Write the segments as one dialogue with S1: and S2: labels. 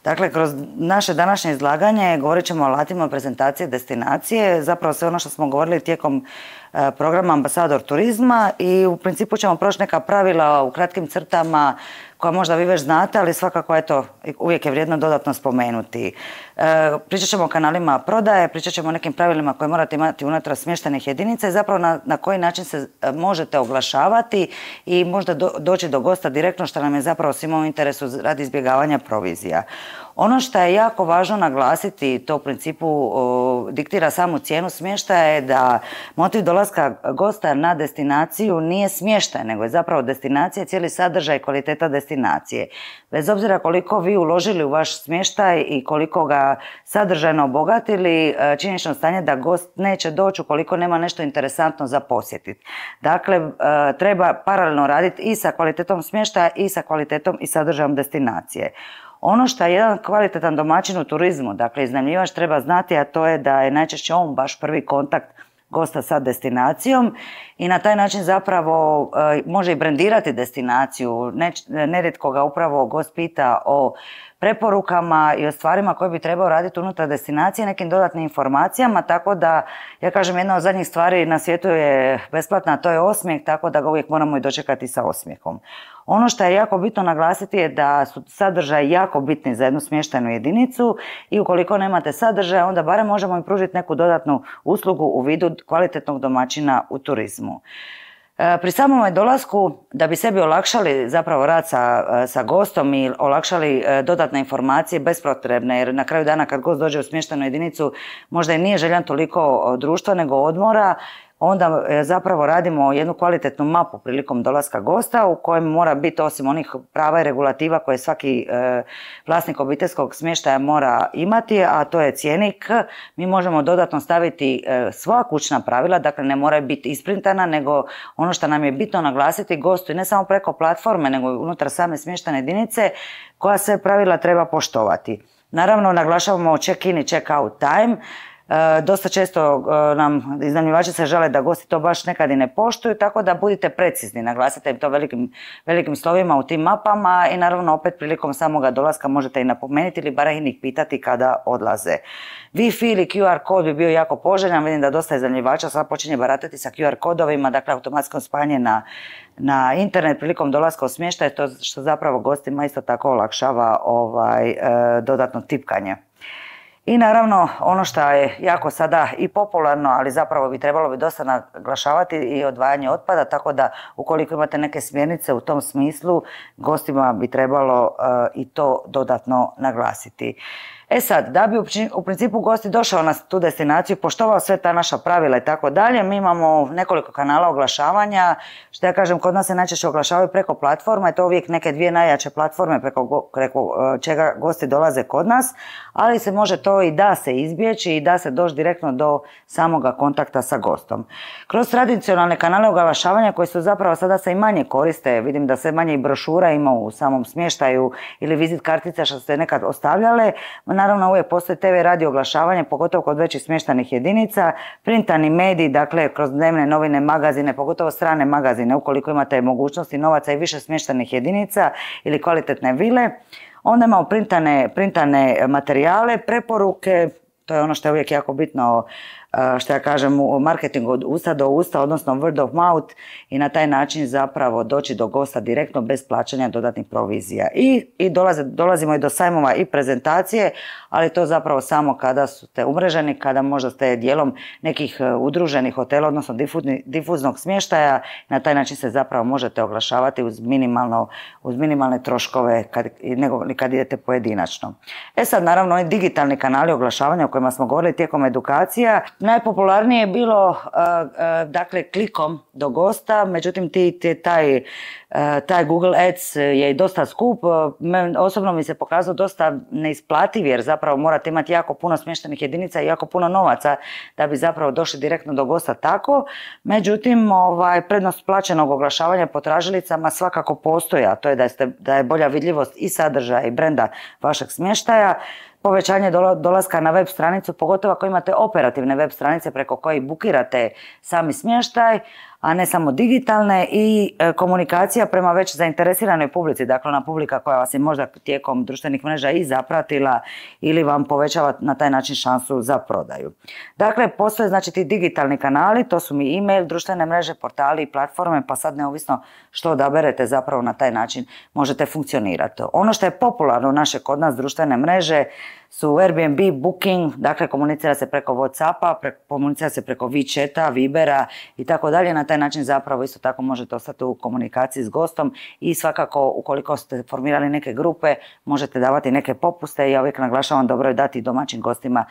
S1: Dakle, kroz naše današnje izlaganje govorit ćemo o alatima prezentacije destinacije, zapravo sve ono što smo govorili tijekom programa Ambasador turizma i u principu ćemo proći neka pravila u kratkim crtama koja možda vi već znate, ali svakako eto, uvijek je vrijedno dodatno spomenuti. Pričat ćemo o kanalima prodaje, pričat ćemo o nekim pravilima koje morate imati unutar smještajnih jedinica i zapravo na koji način se možete oglašavati i možda doći do gosta direktno, što nam je zapravo svima u interesu radi izbjegavanja provizija. Ono što je jako važno naglasiti, to u principu diktira samu cijenu smještaja, je da motiv dolaska gosta na destinaciju nije smještaj, nego je zapravo destinacija, cijeli sadržaj i kvaliteta destinacije. Bez obzira koliko vi uložili u vaš smještaj i koliko ga sadržajno obogatili, činjenično stanje da gost neće doći ukoliko nema nešto interesantno za posjetiti. Dakle, treba paralelno raditi i sa kvalitetom smještaja i sa kvalitetom i sadržajem destinacije. Ono što je jedan kvalitetan domaćin u turizmu, dakle iznajmljivač treba znati, a to je da je najčešće on baš prvi kontakt gosta sa destinacijom i na taj način zapravo može i brendirati destinaciju. Nerijetko ga upravo gost pita o preporukama i o stvarima koje bi trebao raditi unutar destinacije, nekim dodatnim informacijama, tako da, ja kažem, jedna od zadnjih stvari na svijetu je besplatna, a to je osmijeh, tako da ga uvijek moramo i dočekati sa osmijehom. Ono što je jako bitno naglasiti je da su sadržaji jako bitni za jednu smještajnu jedinicu i ukoliko nemate sadržaja, onda barem možemo im pružiti neku dodatnu uslugu u vidu kvalitetnog domaćina u turizmu. Pri samom dolasku, da bi sebi olakšali zapravo rad sa gostom i olakšali dodatne informacije bespotrebne, jer na kraju dana kad gost dođe u smještajnu jedinicu možda i nije željan toliko društva nego odmora, onda zapravo radimo jednu kvalitetnu mapu prilikom dolaska gosta u kojem mora biti, osim onih prava i regulativa koje svaki vlasnik obiteljskog smještaja mora imati, a to je cjenik. Mi možemo dodatno staviti svoja kućna pravila, dakle ne moraju biti isprintana, nego ono što nam je bitno naglasiti gostu i ne samo preko platforme, nego i unutar same smještajne jedinice koja sve pravila treba poštovati. Naravno, naglašavamo check-in i check-out time. Dosta često nam iznajmljivači se žele da gosti to baš nekad i ne poštuju, tako da budite precizni, naglasite im to velikim slovima u tim mapama i naravno opet prilikom samoga dolaska možete i napomenuti ili barem ih pitati kada odlaze. Wi-Fi ili QR kod bi bio jako poželjan, vidim da dosta iznajmljivača sad počinje baratati sa QR kodovima, dakle automatsko spajanje na internet prilikom dolaska u smještaj, to što zapravo gostima isto tako olakšava dodatno tipkanje. I naravno, ono što je jako sada i popularno, ali zapravo bi trebalo dosta naglašavati i odvajanje otpada, tako da ukoliko imate neke smjernice u tom smislu, gostima bi trebalo i to dodatno naglasiti. E sad, da bi u principu gosti došao na tu destinaciju, poštovao sve ta naša pravila i tako dalje, mi imamo nekoliko kanala oglašavanja, što ja kažem, kod nas se najčešće oglašavaju preko platforma, i to uvijek neke dvije najjače platforme preko čega gosti dolaze kod nas, ali se može to i da se izbjeći i da se doći direktno do samoga kontakta sa gostom. Kroz tradicionalne kanale oglašavanja koji su zapravo sada se i manje koriste, vidim da sve manje i brošura ima u samom smještaju ili vizit kartica što ste nekad ostavljale, naravno uvijek postoji TV radio oglašavanje, pogotovo kod većih smještajnih jedinica, printani mediji, dakle kroz dnevne novine, magazine, pogotovo strane magazine, ukoliko imate mogućnosti novaca i više smještajnih jedinica ili kvalitetne vile. Onda imamo printane materijale, preporuke, to je ono što je uvijek jako bitno, što ja kažem, u marketingu od usta do usta, odnosno word of mouth, i na taj način zapravo doći do gosta direktno bez plaćanja dodatnih provizija. I dolazimo i do sajmova i prezentacije, ali to zapravo samo kada ste umreženi, kada možda ste dijelom nekih udruženih hotela, odnosno difuznog smještaja. Na taj način se zapravo možete oglašavati uz minimalne troškove nego kad idete pojedinačno. E sad, naravno, oni digitalni kanali oglašavanja o kojima smo govorili tijekom edukacija, najpopularnije je bilo dakle klikom do gosta, međutim taj Google Ads je i dosta skup. Osobno mi se pokazao dosta neisplativ jer zapravo morate imati jako puno smještajnih jedinica i jako puno novaca da bi zapravo došli direktno do gosta tako. Međutim, prednost plaćenog oglašavanja po tražilicama svakako postoji, a to je da je bolja vidljivost i sadržaja i brenda vašeg smještaja. Povećanje dolaska na web stranicu, pogotovo ako imate operativne web stranice preko kojih bukirate sami smještaj, a ne samo digitalne, i komunikacija prema već zainteresiranoj publici, dakle ona publika koja vas je možda tijekom društvenih mreža i zapratila ili vam povećava na taj način šansu za prodaju. Dakle, postoje znači ti digitalni kanali, to su mi e-mail, društvene mreže, portali i platforme, pa sad neovisno što odaberete zapravo na taj način možete funkcionirati. Ono što je popularno naše kod nas društvene mreže su Airbnb, Booking, dakle komunicira se preko Whatsappa, komunicira se preko WeChata, Vibera i tako dalje. Na taj način zapravo isto tako možete ostati u komunikaciji s gostom i svakako ukoliko ste formirali neke grupe možete davati neke popuste. Ja uvijek naglašavam, dobro je dati domaćim gostima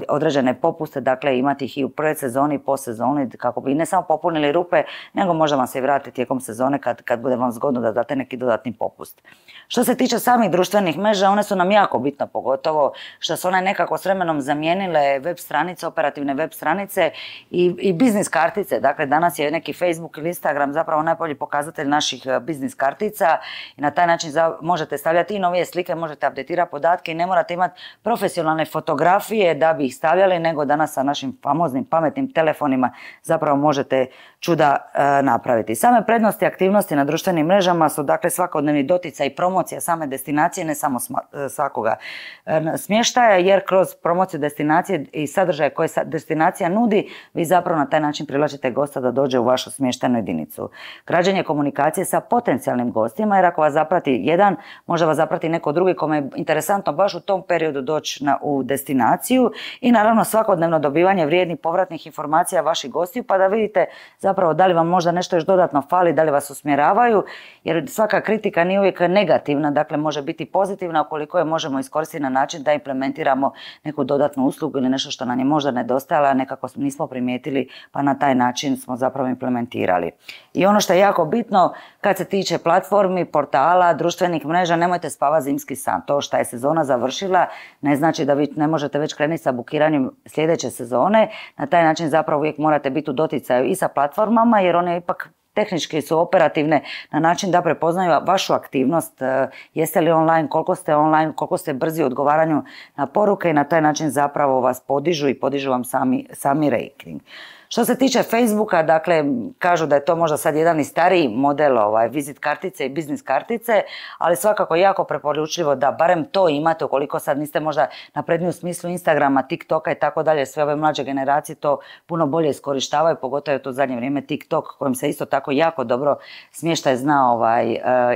S1: određene popuste, dakle imati ih i u predsezoni i postsezoni kako bi ne samo popunili rupe, nego možda vam se i vratiti tijekom sezone kad bude vam zgodno da date neki dodatni popust. Što se tiče samih društvenih mreža, one su nam jako bitne, pogotovo što su one nekako s vremenom zamijenile web stranice, operativne web stranice i biznis kartice. Dakle, danas je neki Facebook ili Instagram zapravo najbolji pokazatelj naših biznis kartica i na taj način možete stavljati i novije slike, možete updatirati podatke i ne morate imati profesionalne fotografije da bi ih stavljali, nego danas sa našim famoznim pametnim telefonima zapravo možete čuda napraviti. Same prednosti aktivnosti na društvenim mrežama su dakle svakodnevni doticaj i promocija same destinacije, ne samo svakoga smještaja, jer kroz promociju destinacije i sadržaje koje destinacija nudi, vi zapravo na taj način privlačite gosta da dođe u vašu smještajnu jedinicu. Građenje komunikacije sa potencijalnim gostima, jer ako vas zaprati jedan, može vas zaprati neko drugi kome je interesantno baš u tom periodu doći u destinaciju, i naravno svakodnevno dobivanje vrijednih povratnih informacija vaših gostiju, pa da vidite zapravo da li vam možda nešto još dodatno fali, da li vas usmjeravaju, jer svaka kritika nije uvijek negativna, dakle može biti pozitivna ukoliko je možemo iskoristiti na način da implementiramo neku dodatnu uslugu ili nešto što nam je možda nedostajalo, a nekako nismo primijetili, pa na taj način smo zapravo implementirali. I ono što je jako bitno kad se tiče platformi, portala, društvenih mreža, nemojte spavati zimski san. To što je sezona završila ne znači da vi ne možete već krenuti sa bukiranjem sljedeće sezone. Na taj način zapravo uvijek morate biti u doticaju i sa platformama, jer one ipak tehnički su operativne na način da prepoznaju vašu aktivnost, jeste li online, koliko ste brzi u odgovaranju na poruke, i na taj način zapravo vas podižu i podižu vam sami rating. Što se tiče Facebooka, dakle, kažu da je to možda sad jedan i stariji model vizit kartice i biznis kartice, ali svakako jako preporučljivo da barem to imate ukoliko sad niste možda napredniji u smislu Instagrama, TikToka i tako dalje. Sve ove mlađe generacije to puno bolje iskorištavaju, pogotovo je to u zadnje vrijeme TikTok kojim se isto tako jako dobro smještaj zna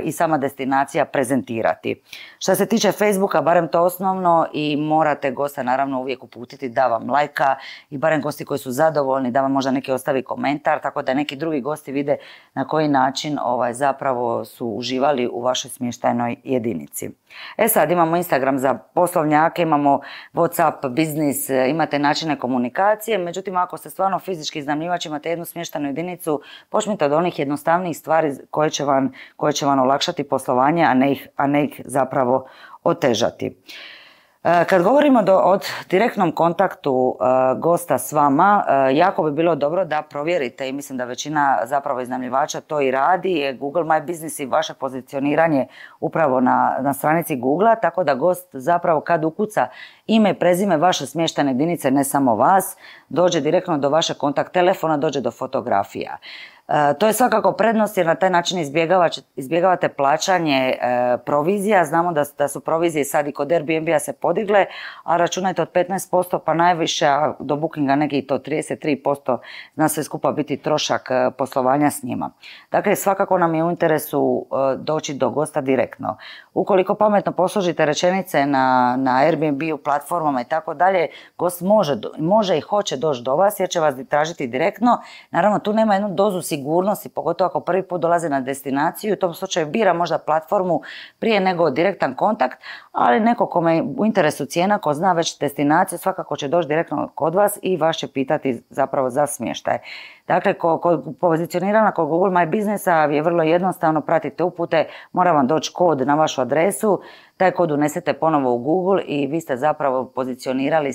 S1: i sama destinacija prezentirati. Što se tiče Facebooka, barem to osnovno, i morate gosta naravno uvijek uputiti da vam lajka, i barem gosti koji su zadovoljni da vam možda neki ostavi komentar, tako da neki drugi gosti vide na koji način zapravo su uživali u vašoj smještajnoj jedinici. Sad imamo Instagram za poslovnjake, imamo Whatsapp, biznis, imate načine komunikacije, međutim ako ste stvarno fizički iznajmljivač, imate jednu smještajnu jedinicu, počnite od onih jednostavnijih stvari koje će vam olakšati poslovanje, a ne ih zapravo otežati. Kad govorimo o direktnom kontaktu gosta s vama, jako bi bilo dobro da provjerite, i mislim da većina zapravo iznajmljivača to i radi, Google My Business i vaše pozicioniranje upravo na stranici Google-a, tako da gost zapravo kad ukuca ime i prezime vaše smještajne jedinice, ne samo vas, dođe direktno do vašeg kontakt telefona, dođe do fotografija. To je svakako prednost jer na taj način izbjegavate plaćanje provizija. Znamo da su provizije sad i kod Airbnb-a se podigle, a računajte od 15% pa najviše, a do Bookinga neki to 33% zna sve skupa biti trošak poslovanja s njima. Dakle, svakako nam je u interesu doći do gosta direktno. Ukoliko pametno posložite rečenice na Airbnb-u, platformama i tako dalje, gost može i hoće doći do vas jer će vas tražiti direktno. Naravno, tu nema jednu dozu sigurnosti, pogotovo ako prvi put dolaze na destinaciju, u tom slučaju bira možda platformu prije nego direktan kontakt, ali neko kome je u interesu cijena, ko zna već destinaciju, svakako će doći direktno kod vas i vas će pitati zapravo za smještaj. Dakle, kod pozicioniranja kod Google My Businessa je vrlo jednostavno, pratite upute, mora vam doći kod na vašu adresu, taj kod unesete ponovo u Google i vi ste zapravo pozicionirali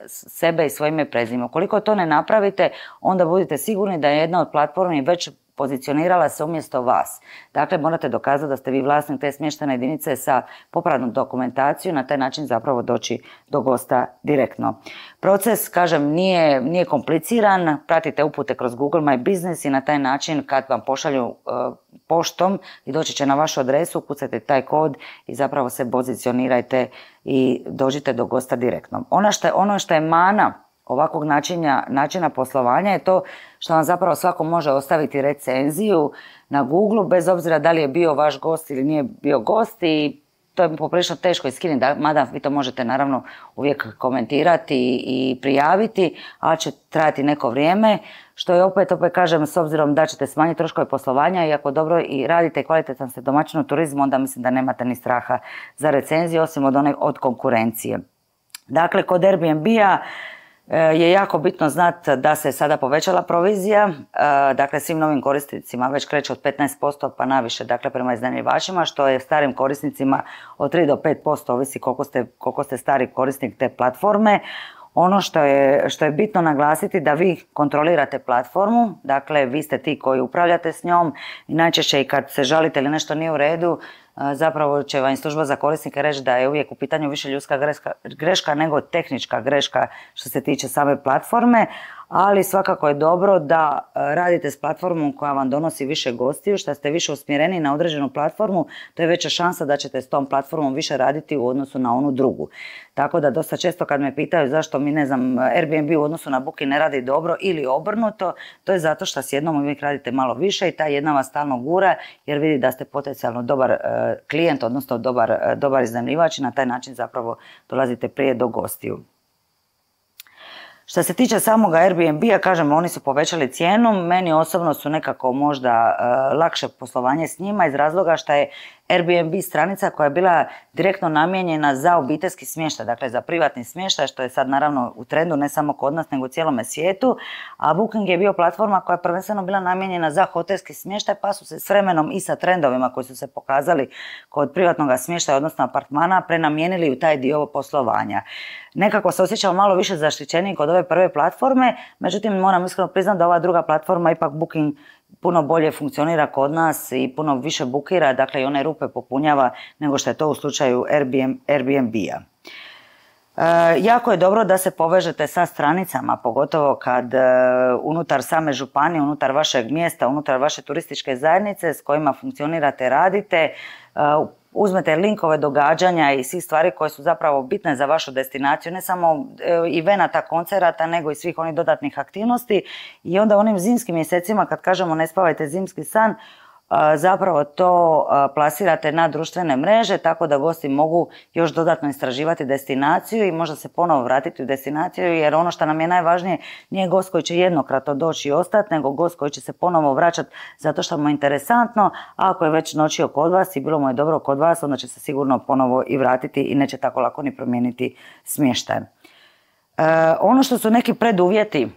S1: sebe i svoje ime i prezime. Ukoliko to ne napravite, onda budite sigurni da je jedna od platformi već pozicionirala se umjesto vas. Dakle, morate dokazati da ste vi vlasnik te smještajne jedinice sa popratnom dokumentacijom, na taj način zapravo doći do gosta direktno. Proces, kažem, nije kompliciran, pratite upute kroz Google My Business i na taj način kad vam pošalju poštom i doći će na vašu adresu, ukucajte taj kod i zapravo se pozicionirajte i dođite do gosta direktno. Ono što je mana ovakvog načina poslovanja je to što vam zapravo svako može ostaviti recenziju na Google, bez obzira da li je bio vaš gost ili nije bio gost, i to je poprilično teško iskinuti, mada vi to možete naravno uvijek komentirati i prijaviti, ali će trajati neko vrijeme, što je opet kažem, s obzirom da ćete smanjiti troškove poslovanja i ako dobro i radite i kvalitetan ste domaćin u turizmu, onda mislim da nemate ni straha za recenziju, osim od konkurencije. Dakle, kod Airbnb-a je jako bitno znati da se sada povećala provizija, dakle svim novim korisnicima već kreće od 15% pa naviše, dakle prema iznajmljivačima, što je starim korisnicima od 3 do 5%, ovisi koliko ste stari korisnik te platforme. Ono što je bitno naglasiti da vi kontrolirate platformu, dakle vi ste ti koji upravljate s njom i najčešće i kad se žalite ili nešto nije u redu, zapravo će vam služba za korisnike reći da je uvijek u pitanju više ljudska greška nego tehnička greška što se tiče same platforme, ali svakako je dobro da radite s platformom koja vam donosi više gostiju, što ste više usmjereni na određenu platformu, to je veća šansa da ćete s tom platformom više raditi u odnosu na onu drugu. Tako da dosta često kad me pitaju zašto mi, ne znam, Airbnb u odnosu na Booking ne radi dobro ili obrnuto, to je zato što s jednom uvijek radite malo više i ta jedna vas stalno gura jer vidi da ste potencijalno dobar klijent, odnosno dobar iznajmljivač i na taj način zapravo dolazite prije do gostiju. Što se tiče samoga Airbnb-a, kažem, oni su povećali cijenu, meni osobno su nekako možda lakše poslovanje s njima iz razloga što je Airbnb stranica koja je bila direktno namijenjena za obiteljski smještaj, dakle za privatni smještaj, što je sad naravno u trendu ne samo kod nas nego u cijelome svijetu, a Booking je bio platforma koja je prvenstveno bila namijenjena za hotelski smještaj, pa su se s vremenom i sa trendovima koji su se pokazali kod privatnog smještaja, odnosno apartmana, prenamijenili u taj dio poslovanja. Nekako se osjećamo malo više zaštićeniji kod ove prve platforme, međutim moram iskreno priznati da ova druga platforma, ipak Booking, puno bolje funkcionira kod nas i puno više bukira, dakle i one rupe popunjava nego što je to u slučaju Airbnb-a. Jako je dobro da se povežete sa stranicama, pogotovo kad unutar same županije, unutar vašeg mjesta, unutar vaše turističke zajednice s kojima funkcionirate, radite, uzmete linkove događanja i svih stvari koje su zapravo bitne za vašu destinaciju, ne samo evenata, koncerata, nego i svih onih dodatnih aktivnosti. I onda u onim zimskim mjesecima, kad kažemo ne spavajte zimski san, zapravo to plasirate na društvene mreže, tako da gosti mogu još dodatno istraživati destinaciju i možda se ponovo vratiti u destinaciju, jer ono što nam je najvažnije nije gost koji će jednokratno doći i ostati, nego gost koji će se ponovo vraćati zato što mu je interesantno, a ako je već noćio kod vas i bilo mu je dobro kod vas, onda će se sigurno ponovo i vratiti i neće tako lako ni promijeniti smještaj. Ono što su neki preduvjeti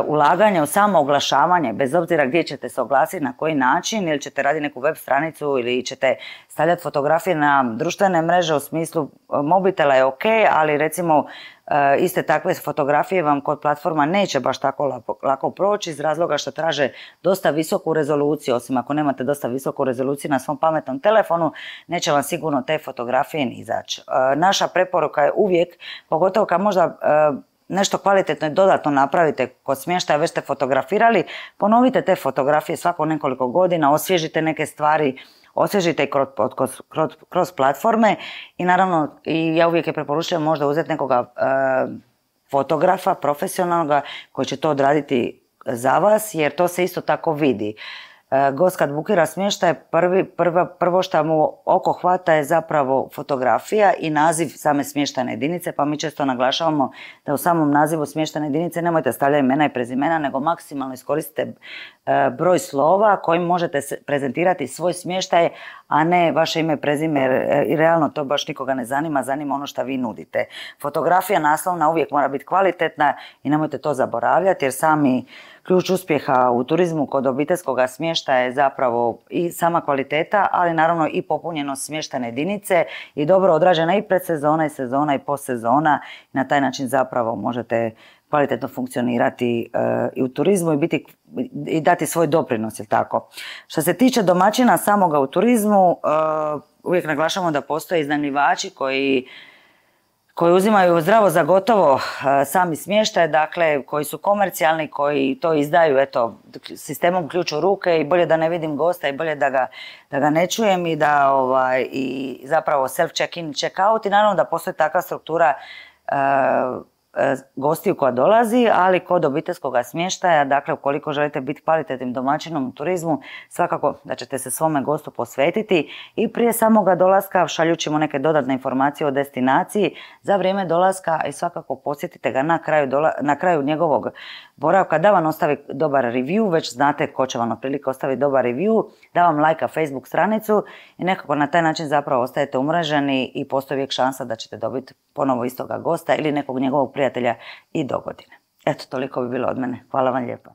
S1: ulaganje u samo oglašavanje, bez obzira gdje ćete se oglasiti, na koji način, ili ćete raditi neku web stranicu ili ćete stavljati fotografije na društvene mreže u smislu mobitela je ok, ali recimo iste takve fotografije vam kod platforma neće baš tako lako proći iz razloga što traže dosta visoku rezoluciju, osim ako nemate dosta visoku rezoluciju na svom pametnom telefonu, neće vam sigurno te fotografije ni izaći. Naša preporuka je uvijek, pogotovo kad možda nešto kvalitetno i dodatno napravite kod smještaja, već ste fotografirali, ponovite te fotografije svako nekoliko godina, osvježite neke stvari, osvježite i kroz platforme i naravno ja uvijek je preporučujem možda uzeti nekoga fotografa profesionalnoga koji će to odraditi za vas, jer to se isto tako vidi. Gost kad bukira smještaj, prvo što mu oko hvata je zapravo fotografija i naziv same smještajne jedinice, pa mi često naglašavamo da u samom nazivu smještajne jedinice nemojte stavljati imena i prezimena, nego maksimalno iskoristite broj slova kojim možete prezentirati svoj smještaj, a ne vaše ime, prezime, jer realno to baš nikoga ne zanima, zanima ono što vi nudite. Fotografija naslovna uvijek mora biti kvalitetna i nemojte to zaboravljati, jer sami ključ uspjeha u turizmu kod obiteljskog smještaja je zapravo i sama kvaliteta, ali naravno i popunjenost smještajne jedinice i dobro odrađena i predsezona i sezona i postsezona. Na taj način zapravo možete kvalitetno funkcionirati i u turizmu i dati svoj doprinos, jel tako? Što se tiče domaćina samoga u turizmu, uvijek naglašavamo da postoje iznajmljivači koji uzimaju zdravo za gotovo sami smještaj, dakle koji su komercijalni, koji to izdaju sistemom ključ u ruke i bolje da ne vidim gosta i bolje da ga ne čujem i da i zapravo self check-in, check-out i naravno da postoji takva struktura gostiju koja dolazi, ali kod obiteljskog smještaja, dakle ukoliko želite biti kvalitetnim domaćinom u turizmu, svakako da ćete se svome gostu posvetiti i prije samoga dolaska šaljući mu neke dodatne informacije o destinaciji za vrijeme dolaska i svakako posjetite ga na kraju njegovog boravka da vam ostavi dobar review, već znate ko će vam otprilike ostaviti dobar review, da vam lajka Facebook stranicu i nekako na taj način zapravo ostajete umreženi i postoji uvijek šansa da ćete dobiti ponovo istoga gosta ili nekog njegovog prijatelja i dogodine. Eto, toliko bi bilo od mene. Hvala vam lijepo.